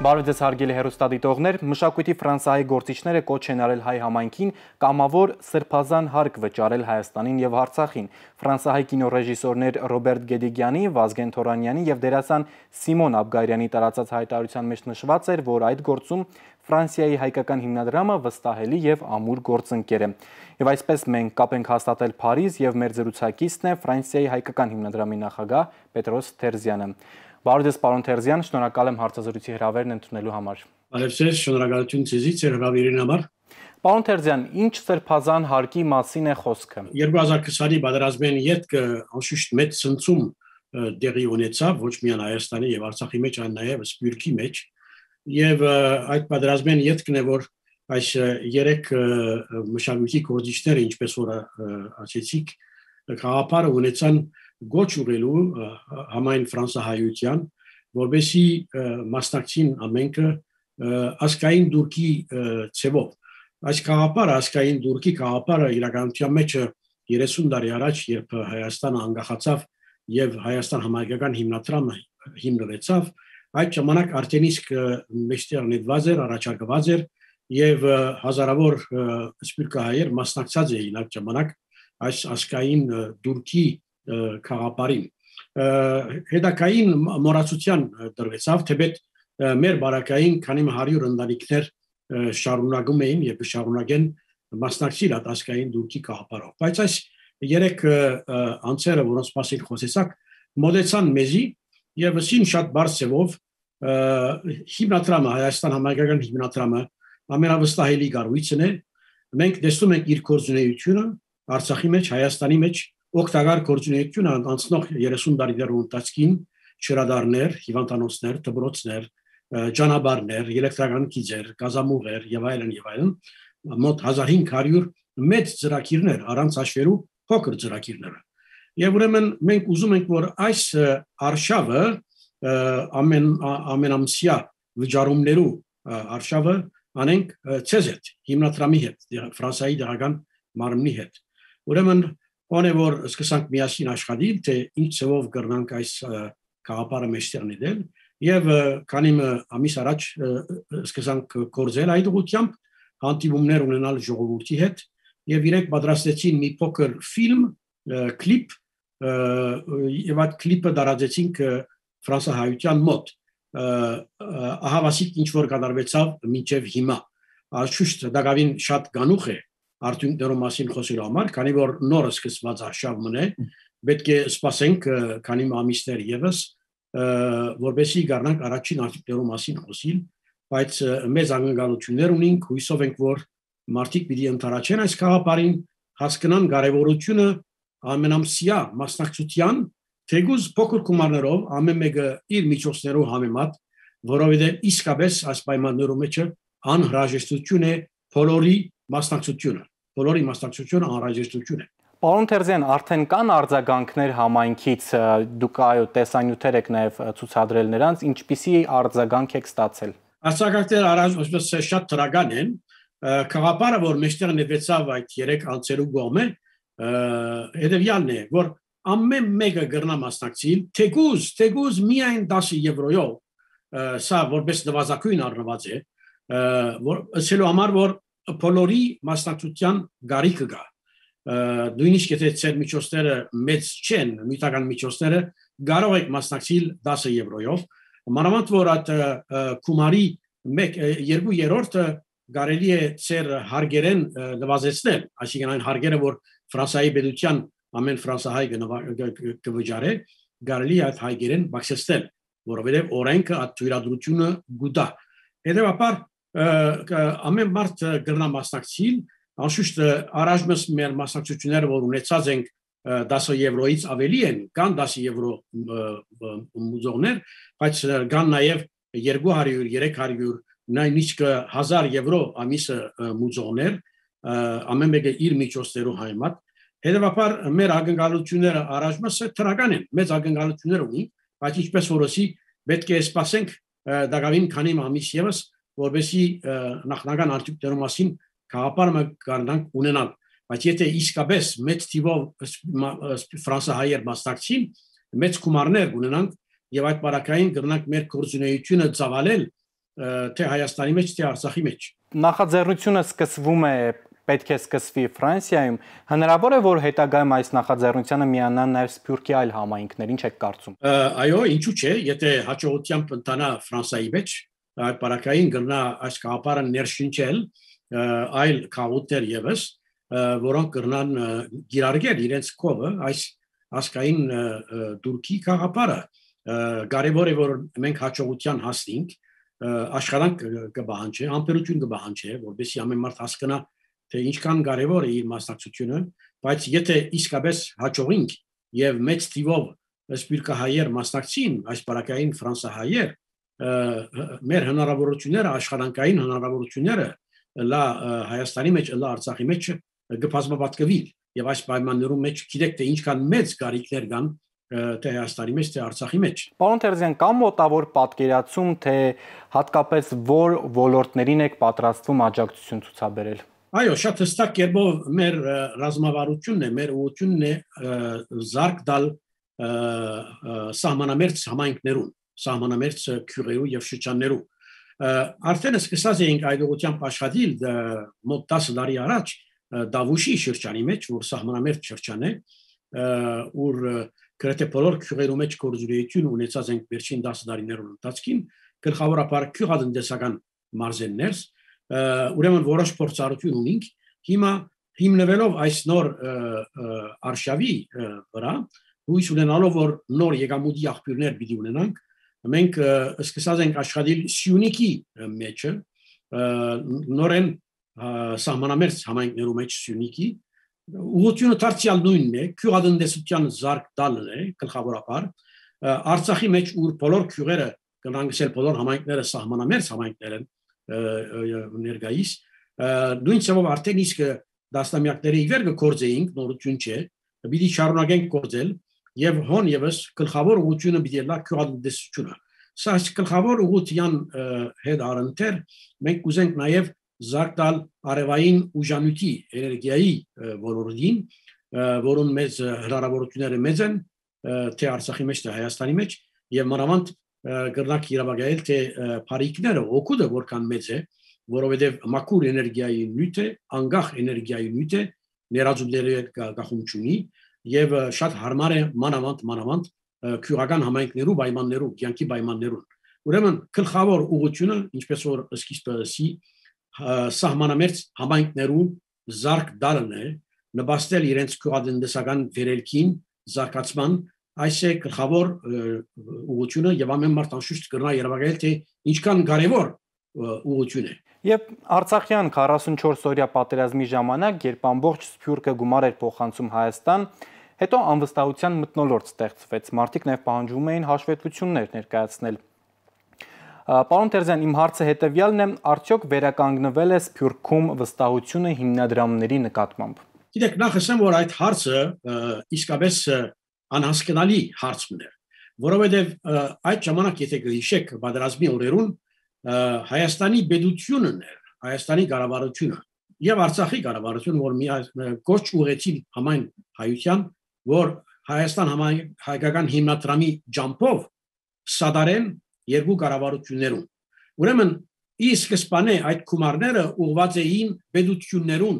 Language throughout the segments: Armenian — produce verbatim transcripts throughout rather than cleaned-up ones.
Բարև ձեզ հարգելի հեռուստադիտողներ, մշակույթի Ֆրանսիայի գործիչները կոչ են արել հայ համայնքին կամավոր սրբազան հարկ վճարել Հայաստանին եւ Արցախին։ Ֆրանսիայի կինոռեժիսորներ Ռոբերտ Գեդիգյանի, Վազգեն Թորանյանի եւ դերասան Սիմոն Աբգարյանի տարածած հայտարարության մեջ նշված էր, որ այդ գործում Ֆրանսիայի հայկական հիմնադրամը վստահելի եւ ամուր գործընկեր է։ Եվ այսպես մենք կապ ենք հաստատել Փարիզ եւ մեր զրուցակիցն է Ֆրանսիայի հայկական հիմնադրամի նախագահ Պետրոս Թերզյանը։ Բարև ձեզ, պարոն Թերզյան, շնորհակալ եմ հարցազրույցի հրավերն ընդունելու համար։ Բարև ձեզ, շնորհակալություն ձեզից ձեր հրավերին համար։ Պարոն Թերզյան, ինչ սրբազան հարկի մասին է խոսքը։ երկու հազար քսանի պատերազմային ետքը անշուշտ մեծ ցնցում տեղի ունեցավ ոչ միայն Հայաստանի եւ Արցախի մեջ, այլ նաեւ Սփյուռքի մեջ։ Եվ այդ պատերազմային ետքն է, որ այս երեք մշակույթի գործիչները, ինչպես որ ասեցիք, խաղապարը ունեցան գոչ ուղղելու համայն ֆրանսահայության, որովհետեւ մասնակցին ամենքը ասկային դուրքի ցևով։ Այս խաղապարը, ասկային դուրքի խաղապարը իրականության մեջ երեսուն տարի առաջ, երբ Հայաստանը անկախացավ եւ Հայաստան համայնքական հիմնադրամը հիմնվեցավ, այդ ժամանակ արդեն իսկ մեջտեղ նետված էր, առաջարկված էր եւ հազարավոր սփյուռքահայեր մասնակցած էին այդ ժամանակ այս ասկային դուրքի խաղապարին։ Հետակային մոռացության դրվեցավ, թեպետ մեր բարակային քանի հարյուր ընտանիքներ շարունակում էին եւ շարունակեն մասնակցել այդ ասկային դուրքի խաղապարով։ Բայց այս երեք անձերը, որոնց մասին խոսեցաք, մոդեցան մեզի եւ ասին շատ բարձրով հիմնադրամը, Հայաստան համայնքական հիմնադրամը ամենավստահելի կառույցն է։ Մենք տեսնում ենք իր գործունեությունը Արցախի մեջ, Հայաստանի մեջ օգտակար գործունեությունը անցնող երեսուն տարիների ընթացքին շրադարներ, հիվանդանոցներ, դպրոցներ, ճանապարհներ, էլեկտրական գիծեր, գազամուղեր եւ այլն եւ այլն, մոտ հազար հինգ հարյուր մեծ ծրագիրներ առանց հաշվելու փոքր ծրագիրներ։ Եվ ուրեմն մենք ուզում ենք, որ այս արշավը ամեն ամենամսյա վճարումներու արշավը անենք ցեզ հետ, հիմնադրամի հետ, Ֆրանսիայի դրական մարմնի հետ։ Ուրեմն Ոնե որ սկսանք միասին աշխատել, թե ինչ ծավով կրնանք այս խաղապարը մեջտեղ նել եւ քանի ամիս առաջ սկսանք կորձել այդ ուղղությամբ, հանդիպումներ ունենալ ժողովրդի հետ եւ իրենք պատրաստեցին մի փոքր ֆիլմ, կլիպ եւ այդ կլիպը դարաձեցինք ֆրանսահայության մոտ։ Ահավասիկ ինչ որ կատարվեցավ մինչեւ հիմա։ Անշուշտ դակավին շատ գանուխ է արդյունքներով մասին խոսելու համար, քանի որ նորը սկսված արշավն է, պետք է սպասենք քանի ամիսներ եւս, որովհետեւ գարնանք առաջին արդյունքներով մասին խոսիլ, բայց մեծ անկալություններ ունենք, հույսով ենք, որ մարդիկ պիտի ընթարաչեն այս խաղապարին, հասկանան կարևորությունը ամենամսյա մասնակցության, թեգուզ փոքր գումարներով, ամեն մեկը իր միջոցներով համեմատ, որովհետեւ իսկապես այս պայմաններում մեջ անհրաժեշտություն է բոլորի մասնակցությունը, բոլորի մասնակցությունը անհրաժեշտություն է։ Պարոն Թերզյան, արդեն կան արձագանքներ համայնքից, դուք այո տեսանյութեր եք նաև ցուցադրել նրանց, ինչպիսի արձագանք եք ստացել։ Արձագանքները առանց շատ դրական են, խաղապարը, որ մեջտեղ նվեցավ այդ երեք անձերու կողմը, հետևյալն է, որ ամեն մեկը կրնա մասնակցել, թեգուզ, թեգուզ միայն դասը եվրոյով, սա որպես նվազագույն առնված է, որ ասելու համար, որ բոլորի մասնակցության գարիքը կա։ Նույնիսկ եթե ցեր միջոցները մեծ չեն, միտական միջոցները կարող եք մասնակցել դասը եվրոյով, մանավանդ որ այդ կումարի մեկ երկու երրորդը կարելի է ցեր հարգերեն նվազեցնել, այսինքն այն հարգերը, որ Ֆրանսիայի պետության ամեն ֆրանսահայ կվճարե, կարելի է այդ հարգերեն բացեցնել, որովհետև օրենքը այդ թույլատրությունը գուտա։ Հետևաբար ամեն մարդ կրնա մասնակցել, անշուշտ առաջմս մեր մասնակցությունները, որ ունեցած ենք դասը եվրոից ավելի են, կան դասը եվրո մուզողներ, բայց կան նաև երկու հարյուր, երեք հարյուր, նույնիսկ հազար եվրո ամիսը մուզողներ, ամեն մեկը իր միջոցներով համեմատ։ Հետևաբար մեր ակնկալությունները առաջմսը թրական են, մեծ ակնկալություններ ունի, բայց ինչպես որոշի պետք է սպասենք դակավին քանի ամիս եւս, որովհետեւ նախնական արդյունքներով մասին խաղապարը կարողանանք ունենալ, բայց եթե իսկապես մեծ թիվով ֆրանսահայեր մասնակցին, մեծ գումարներ ունենանք եւ այդ բարակային կրնանք մեր գործունեությունը ծավալել թե Հայաստանի մեջ, թե Արցախի մեջ։ Նախաձեռնությունը սկսվում է պետք է սկսվի Ֆրանսիայում, հնարավոր է, որ հետագայում այս նախաձեռնությանը միանան նաև Սփյուռքի այլ համայնքներ, ինչ եք կարծում։ Այո, ինչու՞ չէ, եթե հաջողությամբ ընթանա Ֆրանսիայի մեջ, այդ պարակային գրնա այս գաղափարը ներշնչել այլ քաղաքներ եւս, որոնք կրնան գիրարգել իրենց կողը այս ասկային դուրքի գաղափարը։ Կարևոր է, որ մենք հաջողության հասնենք, աշխատանք կբահանջի, համբերություն կբահանջի, որովհետեւ ամեն մարդ հասկանա, թե ինչքան կարևոր է իր մասնակցությունը, բայց եթե իսկապես հաջողենք եւ մեծ թիվով սփյուռքահայեր մասնակցին, այս պարակային ֆրանսահայեր, մեր հնարավորությունները, աշխատանքային հնարավորությունները լա Հայաստանի մեջ, լա Արցախի մեջ կբազմապատկվի եւ այս պայմաններում մեջ գիտեք թե ինչքան մեծ գարիքներ կան թե Հայաստանի մեջ, թե Արցախի մեջ։ Պարոն Տերզյան, կա մոտավոր պատկերացում, թե հատկապես որ ոլորտներին եք պատրաստվում աջակցություն ցուցաբերել։ Այո, շատ հստակ կերպով մեր ռազմավարությունն է, մեր ուղղությունն է զարգ տալ սահմանամերձ համայնքներուն, սահմանամերձ քյուղերու եւ շրջաններու։ Արդեն սկսած էինք այդ ուղղությամբ աշխատել մոտ տասը տարի առաջ Դավուշի շրջանի մեջ, որ սահմանամերձ շրջան է, որ գրեթե բոլոր քյուղերու մեջ գործունեություն ունեցած ենք վերջին տասը տարիներուն ընթացքին, գլխավորապես քյուղատնտեսական մարզերներ, ուրեմն որոշ փորձառություն ունենք, հիմա հիմնվելով այս նոր արշավի վրա, հույս ունենալով որ նոր եկամուտի աղբյուրներ պիտի ունենանք, մենք սկսած ենք աշխատել Սյունիքի մեջը, նորեն սահմանամերձ համայնքներու մեջ Սյունիքի, ուղղությունը դարձյալ նույնն է, քյուղատնտեսության զարգ տալն է գլխավորապես, Արցախի մեջ ուր բոլոր քյուղերը կնանգսել բոլոր համայնքները սահմանամերձ համայնքներ են ներկայիս, նույն ցավով արդեն իսկ դասնամյակների իվեր կգործեինք, նորություն չէ, պիտի շարունակենք գործել եւ հոն եւս գլխավոր ուղղությունը պիտի լա քյուղատնտեսությունը։ Սա գլխավոր ուղղության հետ առընթեր մենք կուզենք նաեւ զարգ տալ արևային ուժանույթի էներգիայի ոլորտին, որոնց մեծ հնարավորությունները մեծ են, թե Արցախի մեջ, թե Հայաստանի մեջ եւ մանավանդ կրնակ իրավագայել թե բարիկները օգուտը որքան մեծ է, որովհետև մաքուր էներգիայի նյութ է, անկախ էներգիայի նյութ է, ներածումների հետ գախում չունի եւ շատ հարմար է մանավանդ մանավանդ քյուղական համայնքներու պայմաններու, կյանքի պայմաններուն։ Ուրեմն գլխավոր ուղղությունը, ինչպես որ սկիզբը սահմանամերձ համայնքներու զարգ տալն է, նպաստել իրենց քյուղատնտեսական վերելքին, զարգացման, այս է գլխավոր ուղղությունը եւ ամեն մարդ անշուշտ կրնա երևակայել թե ինչքան կարեւոր ուղղություն է։ Եվ Արցախյան քառասունչորս օրյա պատերազմի ժամանակ, երբ ամբողջ Սփյուռքը գումար էր փոխանցում Հայաստան, հետո անվստահության մթնոլորտ ստեղծվեց, մարդիկ նաև պահանջում էին հաշվետվություններ ներկայացնել։ Պարոն Տերզյան, իմ հարցը հետևյալն է, արդյոք վերականգնվել է Սփյուռքում վստահությունը հիմնադրամների նկատմամբ։ Գիտեք, նախ ասեմ, որ այդ հարցը իսկապես անհասկանալի հարցն է, որովհետև այդ ժամանակ եթե գիշեք պատերազմի օրերուն Հայաստանի պետությունն էր, Հայաստանի կառավարությունը եւ Արցախի կառավարությունը, որ մի կոչ ուղեցին համայն հայության, որ Հայաստան հայկական հիմնադրամի ջամփով սադարեն երկու կառավարություններուն։ Ուրեմն ի սկզբանե այդ գումարները ուղղված էին պետություններուն,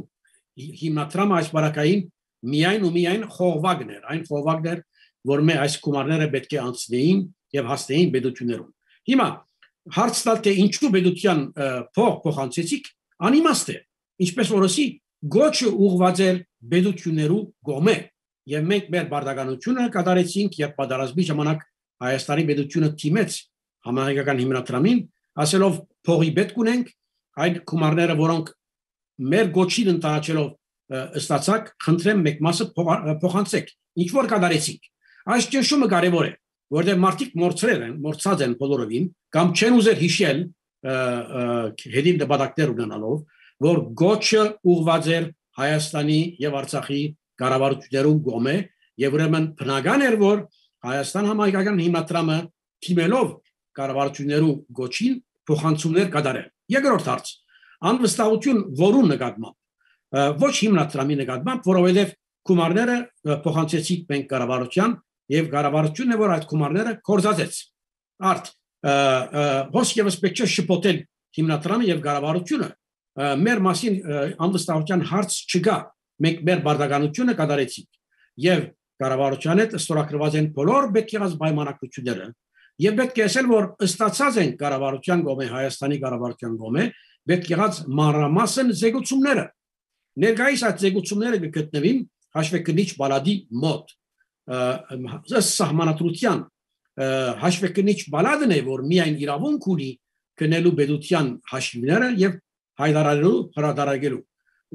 հիմնադրամը այս բարակային միայն ու միայն խողովակներ, այն խողովակներ, որ մե այս գումարները պետք է անցնեին եւ հասնեին պետություններուն։ Հիմա հարց տալ թե ինչու պետության փող փոխանցեցիք, անիմաստ է, ինչպես որ ասի, գոչը ուղղված էր պետություններու կողմը, եւ մենք մեր բարդականությունը կատարեցինք եւ պատերազմի ժամանակ Հայաստանի պետությունը թիմեց համահայկական հիմնադրամին, ասելով փողի պետք ունենք, այդ գումարները, որոնք մեր գոչին ընդառաջելով ստացակ, խնդրեմ մեկ մասը փոխանցեք, ինչ որ կատարեցինք։ Այս ճնշումը կարևոր է, որտեղ մարդիկ մորցրել են, մորցած են բոլորովին, կամ չեն ուզել հիշել հետին դեպատակներ ունենալով, որ գոչը ուղղված էր Հայաստանի եւ Արցախի կառավարություններուն կողմը, եւ ուրեմն բնական էր, որ Հայաստան համահայկական հիմնադրամը թիմելով կառավարություններու գոչին փոխանցումներ կատարել։ Երկրորդ հարց, անվստահություն որուն նկատմամբ, ոչ հիմնադրամի նկատմամբ, որովհետև գումարները փոխանցեցիք մենք կառավարության եւ կառավարությունն է որ այդ գումարները կորզածեց։ Արդ ոսկ եւս պետք է շփոթել հիմնադրամը եւ կառավարությունը մեր մասին անվստահության հարց չկա մենք մեր բարդականությունը կատարեցինք եւ կառավարության հետ ստորագրված են բոլոր պետք եղած պայմանագրությունները եւ պետք է ասել որ ըստացած են կառավարության կողմէ Հայաստանի կառավարության կողմէ պետք եղած մանրամասն զեկուցումները ներկայիս այդ զեկուցումները կգտնվին հաշվեկնիչ բալադի մոտ սահմանադրության հաշվեկնիչ բալադն է որ միայն իրավունք ունի կնելու պետության հաշիվները եւ հայտարարելու հրադարագելու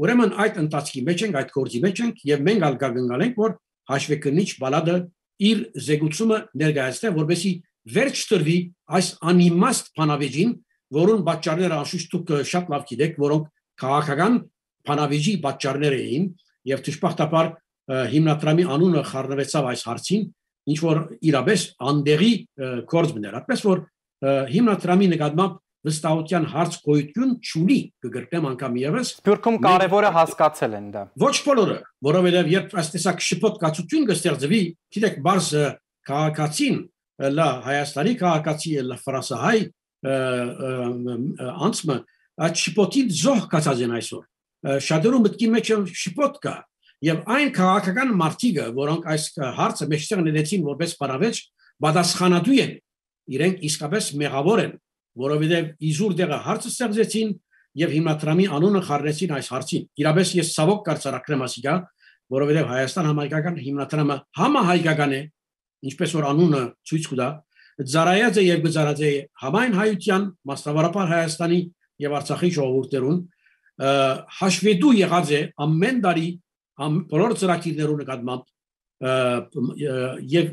ուրեմն այդ ընթացքի մեջ ենք այդ գործի մեջ ենք եւ մենք ալ կգնալենք որ հաշվեկնիչ բալադը իր զեկուցումը ներկայացնի որովհետեւ վերջ տրվի այս անիմաստ բանավեճին որոնց պատճառները անշուշտ դուք շատ լավ գիտեք որոնք քաղաքական բանավեճի պատճառներ էին եւ դժբախտաբար հիմնադրամի անունը խառնվեցավ այս հարցին ինչ որ իրապես անդերի կորձ մներ այդպես որ հիմնադրամի նկատմամբ վստահության հարց գոյություն չունի կգրկեմ անգամ եւս Սփյուռքում կարևորը հասկացել են դա ոչ բոլորը որովհետեւ երբ այս տեսակ շփոթ կացություն կստեղծվի գիտեք բարձ քաղաքացին լա Հայաստանի քաղաքացի լա ֆրանսահայ անցմը այդ շփոթին զոհ կացած են այսօր շատերու մտքի մեջ շփոթ կա եւ այն քաղաքական մարտիկը որոնք այս հարցը մեջտեղ ներեցին որպես բարավեճ պատասխանատու են իրենք իսկապես մեղավոր են որովհետեւ իզուր դեղը հարցը ստեղծեցին եւ հիմնադրամի անունը խառնեցին այս հարցին իրապես ես ցավոք կարծրակրեմ ասիգա որովհետեւ Հայաստան համայնքական հիմնադրամը համահայկական է ինչպես որ անունը ցույց կտա ծառայած է եւ գծարած է համայն հայության մասնավորապես Հայաստանի եւ Արցախի ժողովուրդներուն հաշվետու եղած է ամեն տարի բոլոր ծրագիրներու նկատմամբ եւ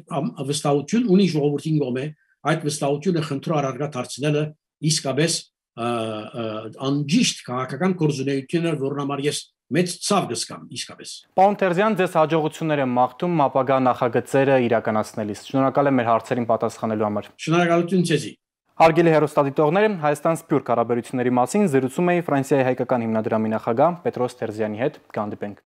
վստահություն ունի ժողովրդին կողմէ այդ վստահությունը խնդրո առարգա դարձնելը իսկապես անջիշտ քաղաքական գործունեություններ որն համար ես մեծ ցավ կսկամ իսկապես Պարոն Տերզյան ձեզ հաջողություններ եմ մաղթում ապագա նախագծերը իրականացնելիս շնորհակալ եմ մեր հարցերին պատասխանելու համար Շնորհակալություն ձեզի Հարգելի հեռուստադիտողներ Հայաստան-Սփյուռք հարաբերությունների մասին զրուցում էի Ֆրանսիայի հայկական հիմնադրամի նախագահ Պետրոս Տերզյանի հետ կհանդիպենք